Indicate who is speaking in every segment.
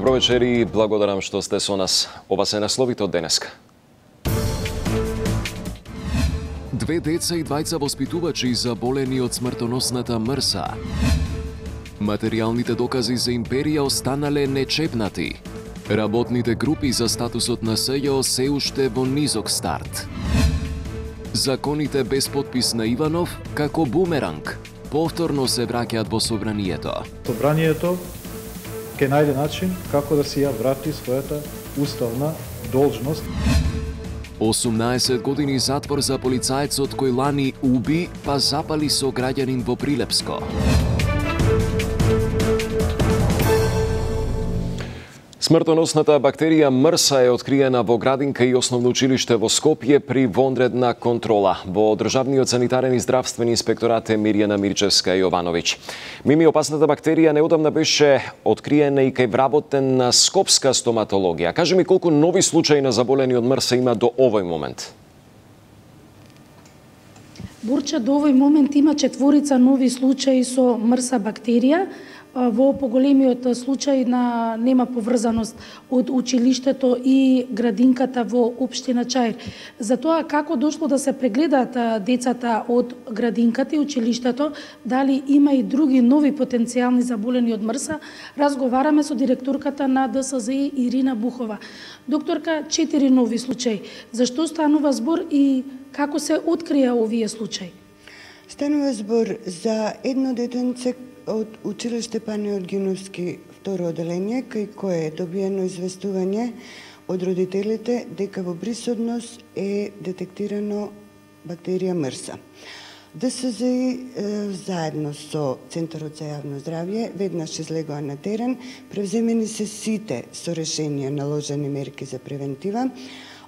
Speaker 1: Добро вечер и благодарам што сте со нас. Ова се насловите од денеска. Две деца и двајца воспитувачи заболени од смртоносната МРСА. Материјалните докази за империја останале нечепнати. Работните групи за статусот на СЈО се уште во низок старт. Законите без подпис на Иванов како бумеранг повторно се враќаат во собранието.
Speaker 2: Собранието ќе најде начин како да си ја врати својата уставна должност.
Speaker 1: 18 години затвор за полицајецот кој лани уби па запали со граѓанин во Прилепско. Смртоносната бактерија МРСА е откриена во градинка и основно училиште во Скопје при вонредна контрола. Во Државниот санитарен и здравствен инспекторат е Мирјана Мирчевска Јовановиќ. Мими, опасната бактерија неодамна беше откриена и кај вработена скопска стоматологија. Кажи ми колку нови случаи на заболени од МРСА има до овој момент?
Speaker 3: Борче, до овој момент има 4 нови случаи со МРСА бактерија. Во поголемиот случај нема поврзаност од училиштето и градинката во општина Чаир. Затоа како дошло да се прегледаат децата од градинката и училиштето, дали има и други нови потенцијални заболени од МРСА, разговараме со директорката на ДСЗИ Ирина Бухова. Докторка, 4 нови случаи. Зашто станува збор и како се открија овие случаи?
Speaker 4: Станува збор за едно детенце од училиште Панеот Гиновски второ оделение, кај кое е добиено известување од родителите дека во брисодност е детектирано бактерија МРСА. ДСЗИ заедно со Центарот за јавно здравје веднаш излегоа на терен, превземени се сите со решение наложени мерки за превентива.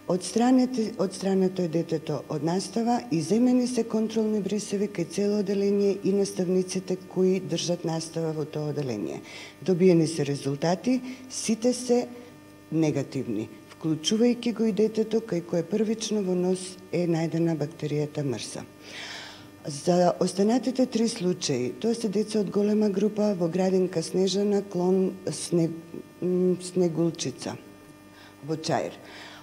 Speaker 4: Отстрането е детето од настава и земени се контролни брисеви кај цело оделение и наставниците кои држат настава во тоа оделение. Добиени се резултати, сите се негативни, вклучувајќи го и детето кај кое првично во нос е најдена бактеријата МРСА. За останатите 3 случаи, тоа се деца од голема група во градинка Снежана, клон Снегулчица во Чаир.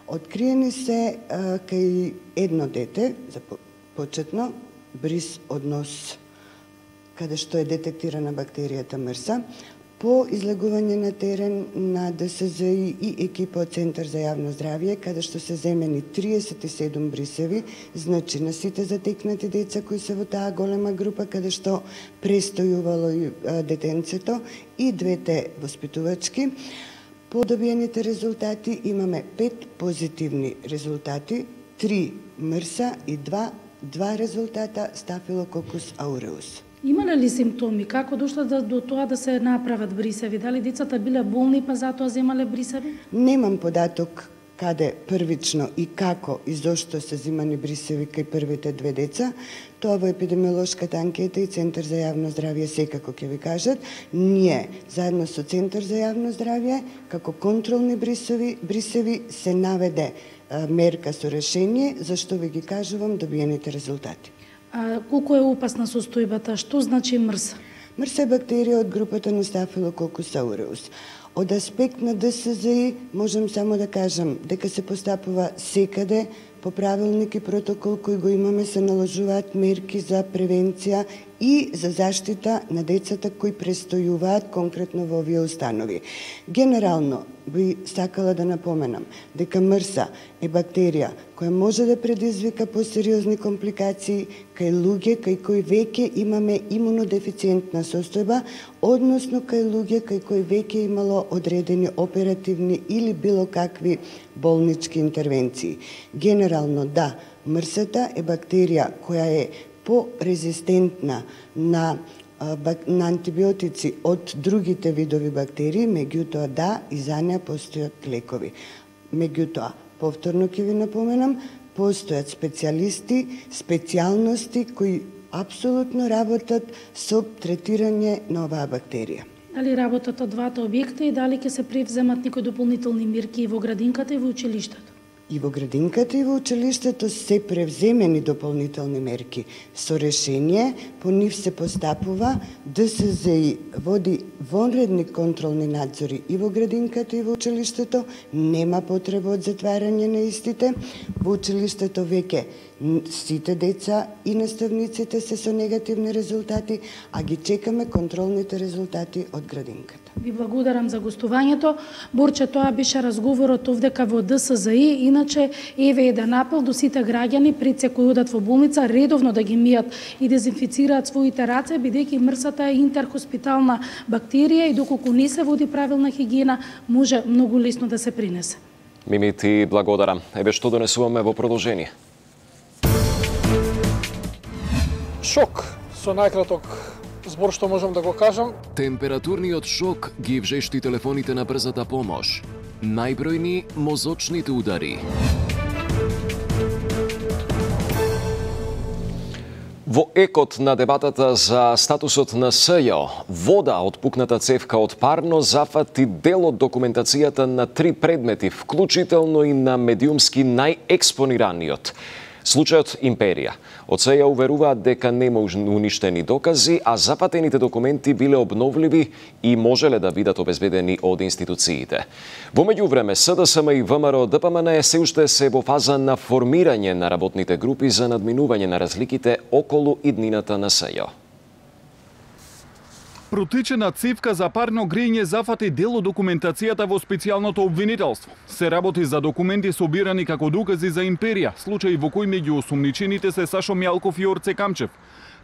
Speaker 4: Откриени се кај едно дете, за почетно, бриз од нос, каде што е детектирана бактеријата МРСА. По излегување на терен на ДСЗИ и екипа од Центар за јавно здравје, каде што се земени 37 брисеви, значи на сите затекнати деца кои се во таа голема група, каде што престојувало и детенцето и двете воспитувачки. По добиените резултати имаме 5 позитивни резултати, 3 МРСА и 2 резултата Стафилококус ауреус.
Speaker 3: Имале ли симптоми? Како дошло до тоа да се направат брисеви? Дали децата биле болни па затоа земале брисеви?
Speaker 4: Немам податок каде првично и како и зошто се земани брисеви кај првите 2 деца. Тоа во епидемиолошката анкета и Центар за јавно здравје секако ќе ви кажат. Ние, заедно со Центар за јавно здравје, како контролни брисеви се наведе мерка со решение, зашто ви ги кажувам добиените резултати.
Speaker 3: Колку е опасна состојбата? Што значи МРСА?
Speaker 4: МРСА е бактерија од групата на Стафилококус ауреус. Од аспект на ДСЗИ можам само да кажам дека се постапува секаде по правилник и протокол кој го имаме, се наложуваат мерки за превенција и за заштита на децата кои престојуваат конкретно во овие установи. Генерално би сакала да напоменам дека МРСА е бактерија која може да предизвика посериозни компликации кај луѓе кај кои веќе имаме имунодефициентна состојба, односно кај луѓе кај кои веќе имало одредени оперативни или било какви болнички интервенции. Генерално да, МРСА е бактерија која е порезистентна на антибиотици од другите видови бактерии, меѓутоа да, и за неа постојат лекови. Меѓутоа, повторно ќе ви напоменам, постојат специјалисти, специјалности кои апсолутно работат со третирање на оваа бактерија.
Speaker 3: Дали работат од двата објекта и дали ќе се превземат некои дополнителни мерки во градинката и во училиштето?
Speaker 4: И во градинката и во училиштето се превземени дополнителни мерки. Со решение по нив се постапува ДСЗИ води вонредни контролни надзори и во градинката и во училиштето, нема потреба од затварање на истите. Во училиштето веќе сите деца и наставниците се со негативни резултати, а ги чекаме контролните резултати од градинката.
Speaker 3: Ви благодарам за гостувањето. Борче, тоа беше разговорот овдека во ДСЗИ. Иначе, еве еден апел до сите граѓани пред се кои одат во болница редовно да ги мијат и дезинфицираат своите раце, бидејќи мрсата е интерхоспитална бактерија и доколку не се води правилна хигиена, може многу лесно да се принесе.
Speaker 1: Мими, ти благодарам. Еве што донесуваме во продолжение.
Speaker 5: Шок, со најкраток збор што можам да го кажам.
Speaker 1: Температурниот шок ги вжешти телефоните на брзата помош. Најбројни мозочните удари. Во екот на дебатата за статусот на СЈО, вода од пукната цевка од парно зафати дел од документацијата на 3 предмети, вклучително и на медиумски најекспонираниот. Случајот Империја. Од СЈО уверуваат дека нема уништени докази, а запатените документи биле обновливи и можеле да бидат обезбедени од институциите. Во меѓувреме, СДСМ и ВМРО ДПМН се уште се во фаза на формирање на работните групи за надминување на разликите околу иднината на СЈО.
Speaker 6: Протечена цевка за парно грејење зафати дел од документацијата во специјалното обвинителство. Се работи за документи собирани како докази за Империја, случај во кој меѓу осумничените се Сашо Мјалков и Орце Камчев,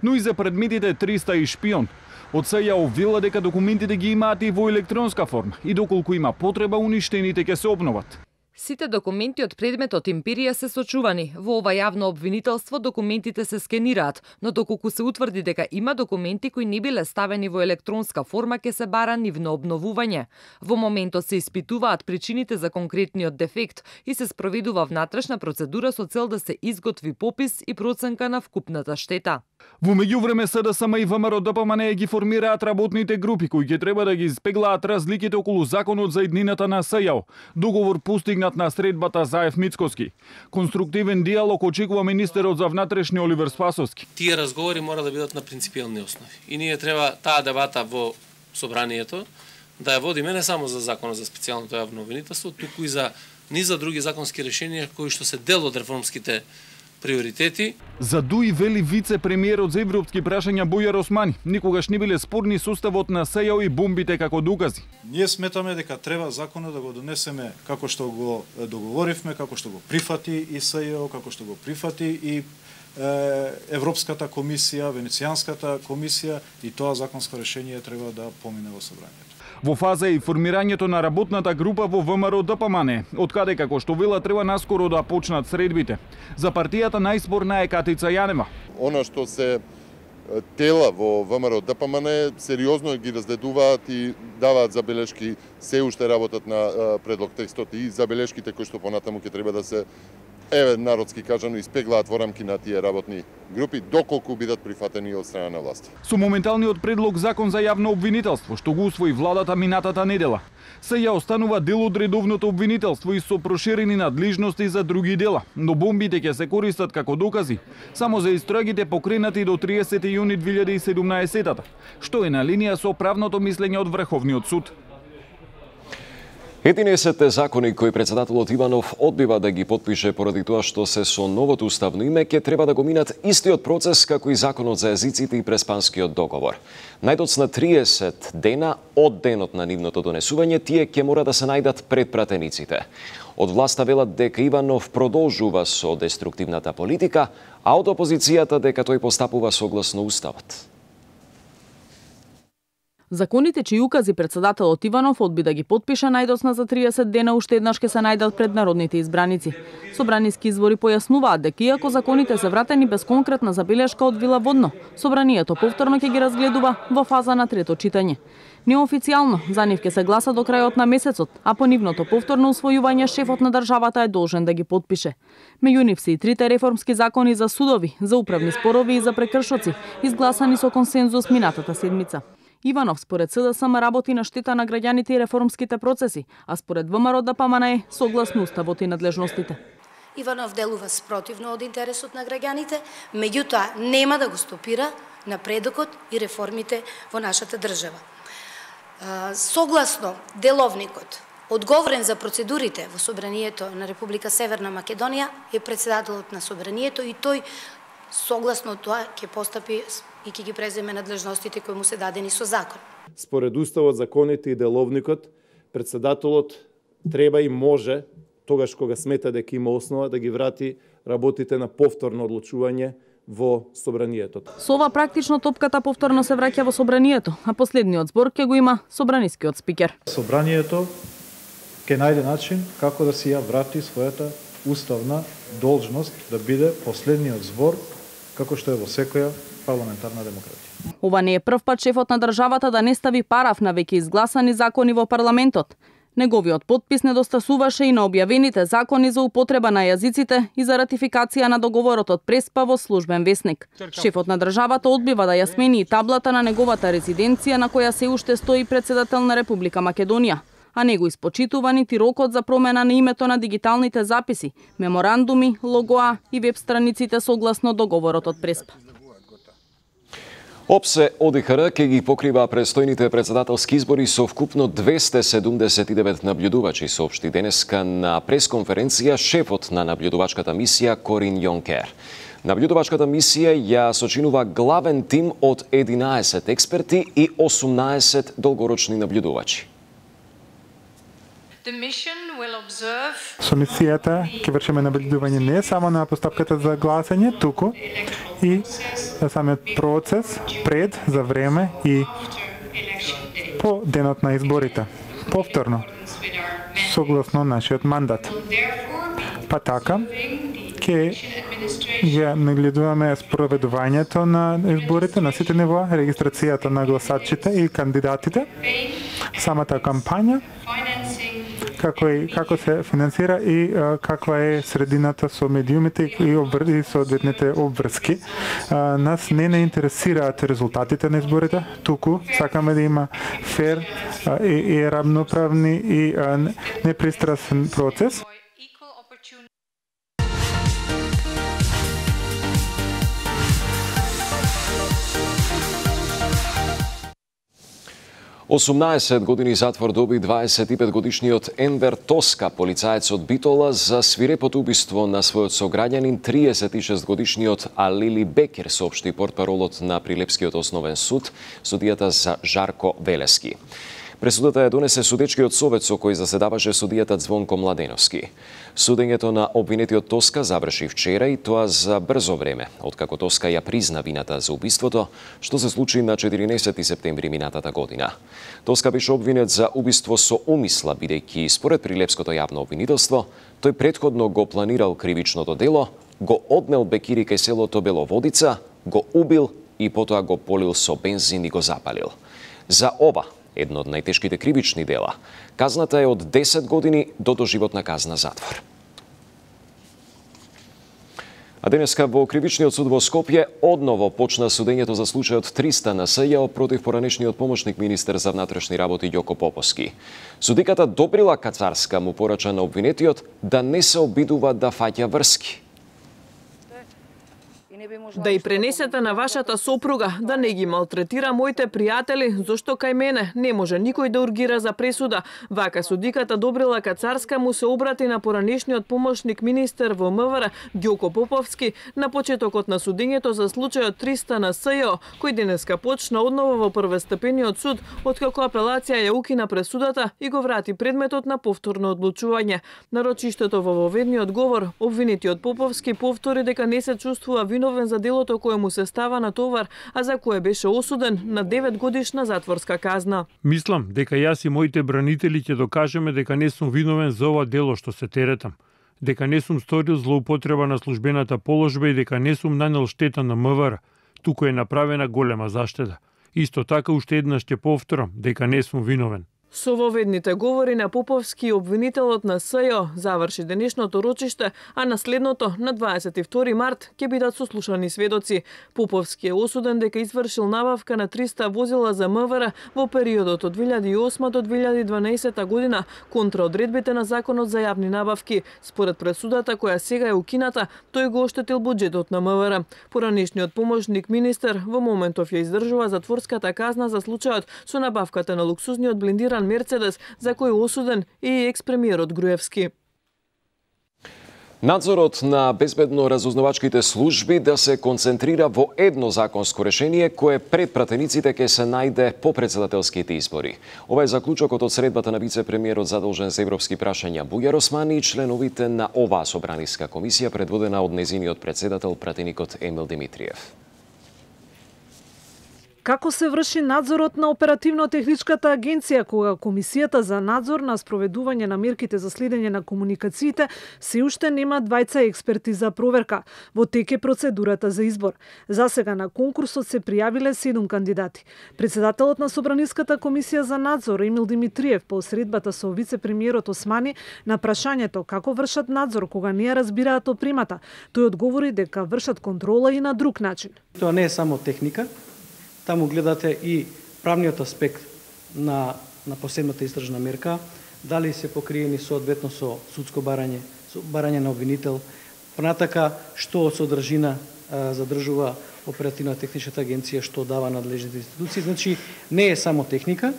Speaker 6: но и за предметите 300 и шпион. Од СЈО обвила дека документите ги имаат и во електронска форма и доколку има потреба, уништените ќе се обноват.
Speaker 7: Сите документи од предметот Империја се сочувани. Во ова јавно обвинителство документите се скенираат, но доколку се утврди дека има документи кои не биле ставени во електронска форма, ќе се бара нивно обновување. Во моментот се испитуваат причините за конкретниот дефект и се спроведува внатрешна процедура со цел да се изготви попис и проценка на вкупната штета.
Speaker 6: Во меѓувреме СДСМ и ВМРО ДПМН ги формираат работните групи кои ќе треба да ги испеглаат разликите околу законот за иднината на СЈО. Договор постигнат на средбата Заев Мицкоски. Конструктивен диалог очекува министерот за внатрешни Оливер Спасовски.
Speaker 8: Тие разговори мора да бидат на принципиални основи. И ние треба таа дебата во собранието да ја водиме не само за законот за специјалното јавно обвинителство, туку и за низа други законски решенија кои што се дел од реформските приоритети.
Speaker 6: За Дуи вели вице-премиерот за европски прашања Бојар Османи, никогаш не биле спорни составот на СЈО и бомбите како докази.
Speaker 2: Ние сметаме дека треба законот да го донесеме како што го договоривме, како што го прифати и СЈО, како што го прифати и Европската комисија, Венецијанската комисија, и тоа законско решение треба да помине во собранието.
Speaker 6: Во фаза е и формирањето на работната група во ВМРО ДПМН, од каде како што вела треба наскоро да почнат средбите. За партијата најспорна е Катица Јанева.
Speaker 9: Она што се тела во ВМРО ДПМН сериозно ги разгледуваат и даваат забелешки, се уште работат на предлог текстот и забелешките кои што понатаму ќе треба да се народски кажано испеглаат во рамки на тие работни групи доколку бидат прифатени од страна на власти.
Speaker 6: Со моменталниот предлог закон за јавно обвинителство што го усвои владата минатата недела, СЈО останува дел од редовното обвинителство и со проширени надлежности за други дела, но бомбите ќе се користат како докази само за истрагите покренати до 30 јуни 2017, што е на линија со правното мислење од Врховниот суд.
Speaker 1: 11 закони кои председателот Иванов одбива да ги потпише поради тоа што се со новото уставно име ќе треба да го минат истиот процес како и законот за езиците и преспанскиот договор. Најдоцна 30 дена од денот на нивното донесување тие ќе мора да се најдат пред пратениците. Од власта велат дека Иванов продолжува со деструктивната политика, а од опозицијата дека тој постапува согласно уставот.
Speaker 10: Законите чии укази председателот Иванов одби да ги потпише најдоцна за 30 дена уште еднаш ќе се најдат пред народните избраници. Собраниски извори појаснуваат дека иако законите се вратени без конкретна забелешка од Вила Водно, собранието повторно ќе ги разгледува во фаза на трето читање. Неофицијално за нив ќе се гласа до крајот на месецот, а по нивното повторно усвојување шефот на државата е должен да ги потпише. Меѓу нив се и трите реформски закони за судови, за управни спорови и за прекршоци, изгласани со консензус минатата седмица. Иванов според СДСМ работи на штета на граѓаните и реформските процеси, а според ВМРО ДПМНЕ согласно уставот и надлежностите.
Speaker 11: Иванов делува спротивно од интересот на граѓаните, меѓутоа нема да го стопира напредокот и реформите во нашата држава. Согласно деловникот, одговорен за процедурите во Собранието на Република Северна Македонија е председателот на Собранието и тој согласно тоа ќе постапи и ќе ги преземе надлежностите кои му се дадени со закон.
Speaker 12: Според уставот, законите и деловникот, председателот треба и може, тогаш кога смета дека има основа, да ги врати работите на повторно одлучување во Собранието.
Speaker 10: Со ова практично топката повторно се враќа во Собранието, а последниот збор ќе го има собранискиот спикер.
Speaker 2: Собранието ќе најде начин како да си ја врати својата уставна должност да биде последниот збор, како што е во секоја парламентарна демократија.
Speaker 10: Ова не е прв пат шефот на државата да не стави параф на веќе изгласани закони во парламентот. Неговиот подпис недостасуваше и на објавените закони за употреба на јазиците и за ратификација на договорот од Преспа во Службен весник. Шефот на државата одбива да ја смени и таблата на неговата резиденција на која се уште стои председател на Република Македонија, а не го испочитува нити рокот за промена на името на дигиталните записи, меморандуми, логоа и веб страниците согласно договорот од Преспа.
Speaker 1: ОПСЕ ОДИХР ќе ги покрива престојните председателски избори со вкупно 279 наблюдувачи, соопшти денеска на пресконференција шефот на наблюдувачката мисија Корин Јонкер. Наблюдувачката мисија ја сочинува главен тим од 11 експерти и 18 долгорочни наблюдувачи.
Speaker 13: Со мисијата ќе вршиме наблюдување не само на постапката за гласање, туку и самиот процес пред, за време и по денот на изборите. Повторно, согласно нашиот мандат. Па така, ќе ја нагледуваме спроведувањето на изборите на сите нива, регистрацијата на гласачите и кандидатите, самата кампања, како се финансира и каква е средината со медиумите и соодветните обврски. Нас не интересираат резултатите на изборите, туку сакаме да има фер и равноправни и непристрасен процес.
Speaker 1: 18 години затвор доби 25-годишниот Енвер Тоска, полицаец од Битола, за свирепото убиство на својот сограѓанин 36-годишниот Алили Бекер, соопшти портпаролот на Прилепскиот основен суд, судијата за Жарко Велески. Пресудата ја донесе судечкиот совет со кој заседаваше судијата Звонко Младеновски. Судењето на обвинетиот Тоска заврши вчера и тоа за брзо време, откако Тоска ја призна вината за убиството, што се случи на 14 септември минатата година. Тоска беше обвинет за убиство со умисла, бидејќи според Прилепското јавно обвинителство, тој претходно го планирал кривичното дело, го однел Бекири кај селото Беловодица, го убил и потоа го полил со бензин и го запалил. За ова, едно од најтешките кривични дела, казната е од 10 години до доживотна казна затвор. А денеска во Кривичниот суд во Скопје одново почна судењето за случајот 300 на СЈО против поранешниот помошник министер за внатрешни работи Ѓоко Поповски. Судиката Добрила Кацарска му порача на обвинетиот да не се обидува да фаќа врски.
Speaker 14: Да и пренесете на вашата сопруга да не ги малтретира моите пријатели, зашто кај мене не може никој да ургира за пресуда. Вака судиката Добрила Кацарска му се обрати на поранешниот помошник министер во МВР Ѓоко Поповски на почетокот на судењето за случајот 300 на СЈО, кој денеска почна одново во првостепениот суд, откако апелација ја укина пресудата и го врати предметот на повторно одлучување. На рочиштето во воведниот говор, обвинетиот Поповски повтори дека не се чувствува виновен за делото кое му се става на товар, а за кое беше осуден на 9 годишна затворска казна.
Speaker 15: Мислам дека јас и моите бранители ќе докажеме дека не сум виновен за ова дело што се теретам, дека не сум сторил злоупотреба на службената положба и дека не сум нанел штета на МВР, туку е направена голема заштеда. Исто така уште еднаш ќе повторам дека не сум виновен.
Speaker 14: Со воведните говори на Поповски, обвинителот на СЈО заврши денешното рочиште, а на следното, на 22 март, ќе бидат сослушани сведоци. Поповски е осуден дека извршил набавка на 300 возила за МВР во периодот од 2008 до 2012 година контра одредбите на Законот за јавни набавки. Според пресудата која сега е укината, тој го оштетил буџетот на МВР. Поранешниот помошник министер во моментов ја издржува затворската казна за случајот со набавката на луксузниот блиндиран Мерцедес, за кој е осуден и екс-премиерот Груевски.
Speaker 1: Надзорот на безбедно разузнавачките служби да се концентрира во едно законско решение кое пред пратениците ќе се најде по председателските избори. Ова е заклучокот од средбата на вице-премиерот задолжен за европски прашања Бујар Османи и членовите на оваа собраниска комисија предводена од незиниот председател пратеникот Емил Димитриев.
Speaker 16: Како се врши надзорот на оперативно-техничката агенција кога Комисијата за надзор на спроведување на мерките за следење на комуникациите се уште нема двајца експерти за проверка. Во тек е процедурата за избор. За сега на конкурсот се пријавиле 7 кандидати. Председателот на Собраниската комисија за надзор Емил Димитриев по средбата со вице-премиерот Османи на прашањето како вршат надзор кога не ја разбираат опримата, тој одговори дека вршат контрола и на друг начин.
Speaker 17: Тоа не е само техника. Таму гледате и правниот аспект на последната истражна мерка, дали се покриени соодветно со судско барање, со барање на обвинител, понатака што од содржина задржува оперативна техничката агенција, што дава надлежните институции. Значи, не е само техника,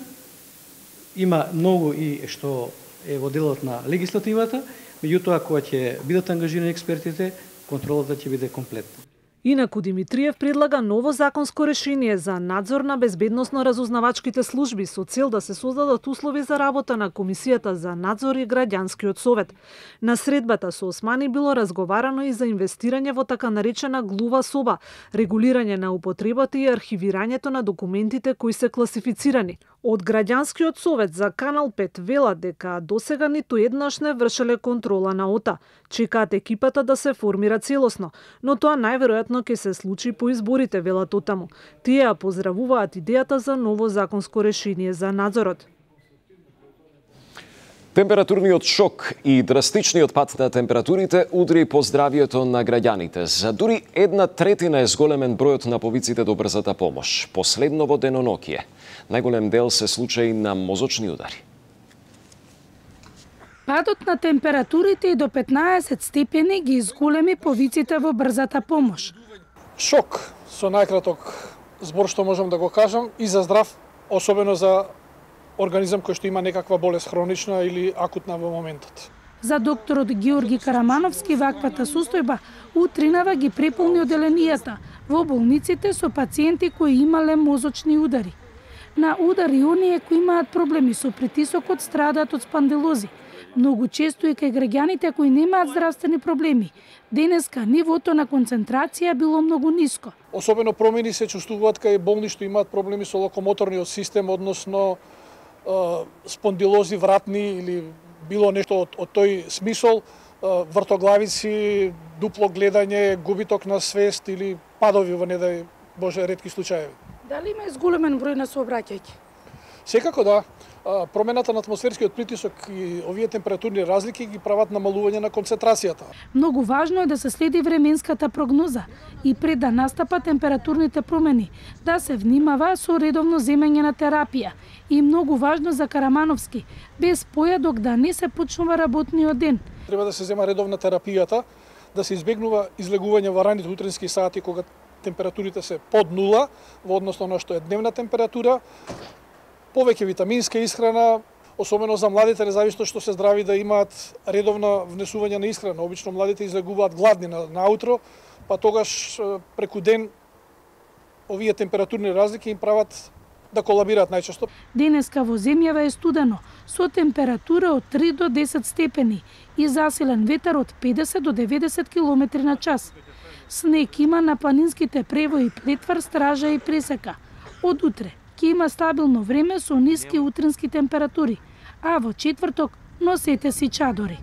Speaker 17: има многу и што е во делот на легислативата, меѓутоа кога ќе бидат ангажирани експертите, контролата ќе биде комплетна.
Speaker 16: Инаку Димитриев предлага ново законско решение за надзор на безбедносно-разузнавачките служби со цел да се создадат услови за работа на Комисијата за надзор и Граѓанскиот совет. На средбата со Османи било разговарано и за инвестирање во така наречена глува соба, регулирање на употребата и архивирањето на документите кои се класифицирани. Од Граѓанскиот совет за Канал 5 велат дека досега ниту еднаш не вршеле контрола на ОТА. Чекаат екипата да се формира целосно, но тоа најверојатно ќе се случи по изборите, велат отаму. Тие ја поздравуваат идејата за ново законско решение за надзорот.
Speaker 1: Температурниот шок и драстичниот пат на температурите удри по здравието на граѓаните. За дури 1/3 е зголемен бројот на повиците до брзата помош. Последно во денонокие. Најголем дел се случаи на мозочни удари.
Speaker 3: Падот на температурите и до 15 степени ги изголеми повиците во брзата помош.
Speaker 5: Шок со најкраток збор што можам да го кажам и за здрав, особено за организам кој што има некаква болест хронична или акутна во моментот.
Speaker 3: За докторот Георги Карамановски ваквата состојба утринава ги преполни оделенијата во болниците со пациенти кои имале мозочни удари. На удари оние кои имаат проблеми со притисокот страдаат од спандилози. Многу често и кај граѓаните кои немаат здравствени проблеми. Денеска нивото на концентрација било многу ниско.
Speaker 5: Особено промени се чувствуваат кај болни што имаат проблеми со локомоторниот систем, односно спондилози вратни или било нешто од тој смисол, вртоглавици, дупло гледање, губиток на свест или падови во недај Боже ретки случаеви.
Speaker 3: Дали има изголемен број на сообраќајки?
Speaker 5: Секако да. Промената на атмосферскиот притисок и овие температурни разлики ги прават намалување на концентрацијата.
Speaker 3: Многу важно е да се следи временската прогноза и пред да настапат температурните промени, да се внимава со редовно земење на терапија. И многу важно за Карамановски, без појадок да не се почнува работниот ден.
Speaker 5: Треба да се зема редовна терапијата, да се избегнува излегување во раните утрински сати кога температурите се под нула во однос на што е дневна температура. Повеќе витаминска исхрана, особено за младите, независно што се здрави, да имаат редовно внесување на исхрана. Обично младите излегуваат гладни наутро, па тогаш преку ден овие температурни разлики им прават да колабираат најчесто.
Speaker 3: Денеска во земјава е студено, со температура од 3 до 10 степени и засилен ветер од 50 до 90 км на час. Снег има на планинските превои Плетвар, Стража и Пресека. Од утре ќе има стабилно време со ниски утрински температури, а во четврток носете си чадори.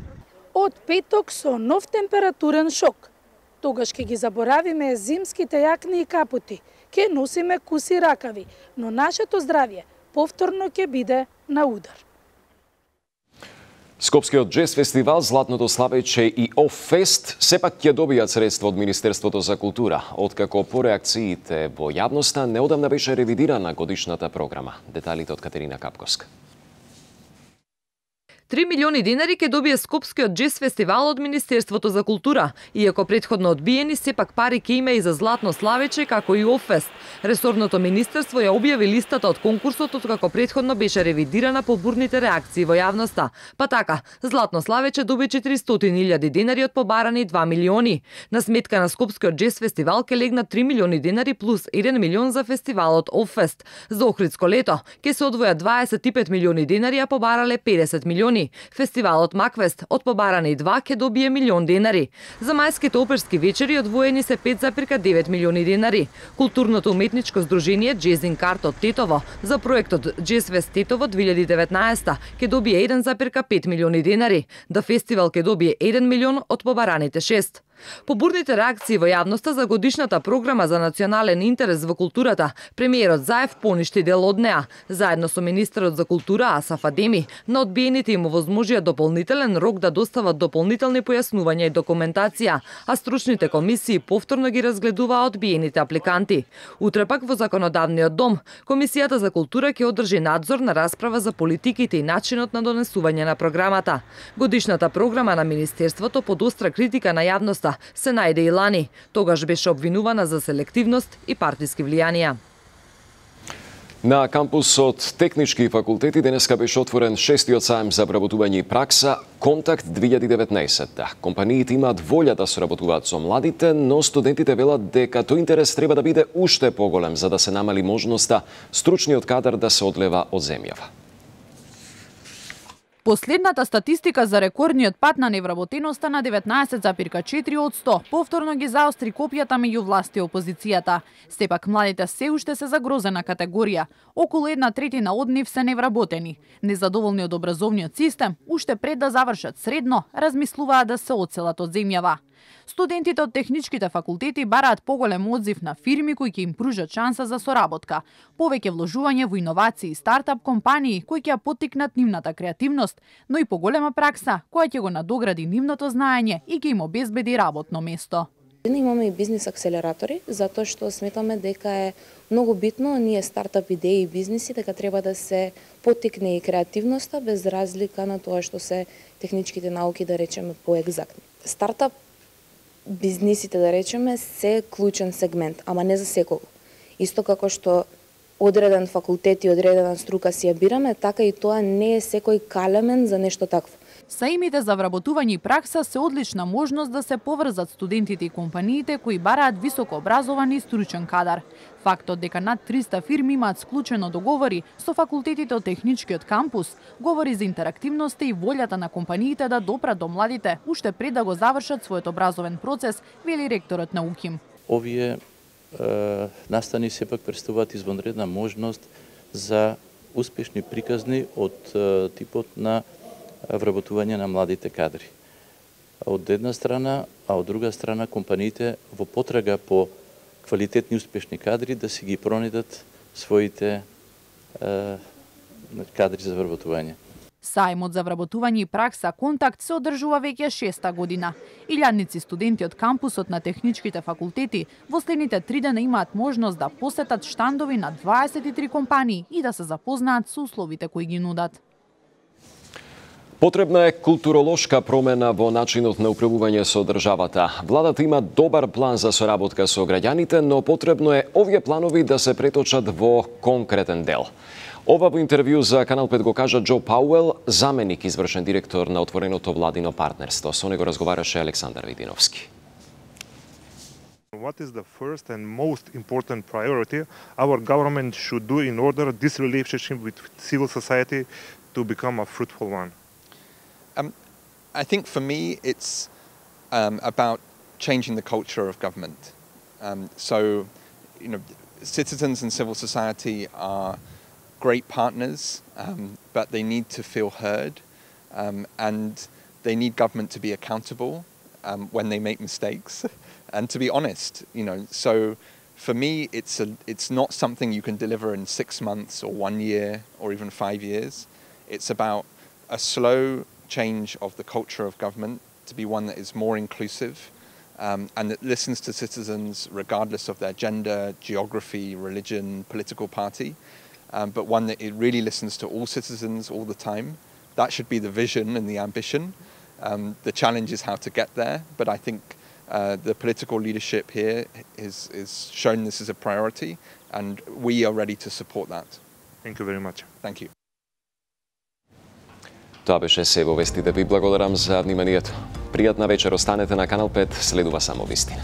Speaker 3: Од петок со нов температурен шок. Тогаш ќе ги заборавиме зимските јакни и капути, ќе носиме куси ракави, но нашето здравје повторно ќе биде на удар.
Speaker 1: Скопскиот джез фестивал, Златното славеќе и Оффест сепак ќе добијат средства од Министерството за култура, откако по реакциите во јавноста неодамна беше ревидирана годишната програма. Деталите од Катерина Капковска.
Speaker 7: 3 милиони денари ќе добие Скопскиот джез фестивал од Министерството за култура. Иако претходно одбиени, сепак пари ќе има и за Златно славеќе, како и Оффест. Ресорното министерство ја објави листата од конкурсот, откако претходно беше ревидирана по бурните реакции во јавноста. Па така, Златно славеќе доби 400.000 денари од побарани 2 милиони. На сметка на Скопскиот джез фестивал ќе легнат 3 милиони денари плюс 1 милион за фестивалот Оффест. За Охридско лето ќе се одвојат 25 милиони денари, а побарале 50 милиони. Фестивалот Маквест од побарани 2 ќе добие милион денари. За мајските оперски вечери одвоени се 5,9 милиони денари. Културното уметничко здружение Джезинг Арт од Тетово за проектот Джезфест Тетово 2019 ќе добие 1,5 милиони денари. Да фестивал ќе добие 1 милион од побараните 6. По бурните реакции во јавноста за годишната програма за национален интерес во културата, премиерот Заев поништи дел од неа. Заедно со министерот за култура Асаф Адеми, на одбиените им овозможија дополнителен рок да достават дополнителни појаснувања и документација, а стручните комисии повторно ги разгледуваа одбиените апликанти. Утре пак во Законодавниот дом, Комисијата за култура ќе одржи надзор на расправа за политиките и начинот на донесување на програмата. Годишната програма на министерството под остра критика на јавноста се најде и лани. Тогаш беше обвинувана за селективност и партиски влијанија.
Speaker 1: На кампусот Технички факултети денеска беше отворен 6-тиот саем за вработување и пракса Контакт 2019. Компаниите имаат волја да соработуваат со младите, но студентите велат дека тој интерес треба да биде уште поголем за да се намали можноста стручниот кадар да се одлева од земјава.
Speaker 10: Последната статистика за рекордниот пат на невработеноста на 19,4 од 100 повторно ги заостри копјата меѓу власт и опозицијата. Сепак младите се уште се загрозена категорија. Околу 1/3 од нив се невработени. Незадоволни од образовниот систем, уште пред да завршат средно, размислуваат да се одселат од земјава. Студентите од техничките факултети бараат поголем одзив на фирми кои ќе им пружат шанса за соработка, повеќе вложување во иновации и стартап компании кои ќе ја поттикнат нивната креативност, но и поголема пракса која ќе го надогради нивното знаење и ќе им обезбеди работно место.
Speaker 18: Имаме и бизнис акселератори, затоа што сметаме дека е многу битно ние стартап идеи и бизниси дека треба да се поттикне и креативноста без разлика на тоа што се техничките науки, да речеме, поегзактни. Стартап бизнисите, да речеме, се клучен сегмент, ама не за секого. Исто како што одреден факултет и одредена струка си ја бираме, така и тоа не е секој калемен за нешто такво.
Speaker 10: Саимите за вработување и пракса се одлична можност да се поврзат студентите и компаниите кои бараат високо образован и стручен кадар. Фактот дека над 300 фирми имаат склучено договори со факултетите од техничкиот кампус говори за интерактивноста и волјата на компаниите да допрат до младите уште пред да го завршат својот образовен процес, вели ректорот на УКИМ.
Speaker 19: Овие настани сепак представуваат извонредна можност за успешни приказни од типот на вработување на младите кадри. Од една страна, а од друга страна компаниите во потрага по квалитетни успешни кадри да си ги пронидат своите кадри за вработување.
Speaker 10: Сајмот за вработување и пракса Контакт се одржува веќе 6-та година. Илјадници студенти од кампусот на техничките факултети во следните 3 дена имаат можност да посетат штандови на 23 компании и да се запознаат со условите кои ги нудат.
Speaker 1: Потребна е културолошка промена во начинот на управување со државата. Владата има добар план за соработка со граѓаните, но потребно е овие планови да се преточат во конкретен дел. Ова во интервју за Канал 5 го кажа Џо Пауел, заменик извршен директор на отвореното владино партнерство. Со него разговараше Александар Видиновски.
Speaker 20: What is the first and most important priority our government should do in order this relationship with civil society to become a fruitful one?
Speaker 21: I think for me it's about changing the culture of government. Citizens and civil society are great partners, but they need to feel heard, and they need government to be accountable when they make mistakes, and to be honest. So for me, it's not something you can deliver in 6 months or 1 year or even 5 years. It's about a slow, change of the culture of government to be one that is more inclusive and that listens to citizens regardless of their gender, geography, religion, political party, but one that it really listens to all citizens all the time. That should be the vision and the ambition. The challenge is how to get there, but I think the political leadership here is shown this as a priority, and we are ready to support that.
Speaker 20: Thank you very much.
Speaker 21: Thank you.
Speaker 1: Тоа беше се во вестите. Ви благодарам за вниманието. Пријатна вечер, останете на Канал 5, следува само вистина.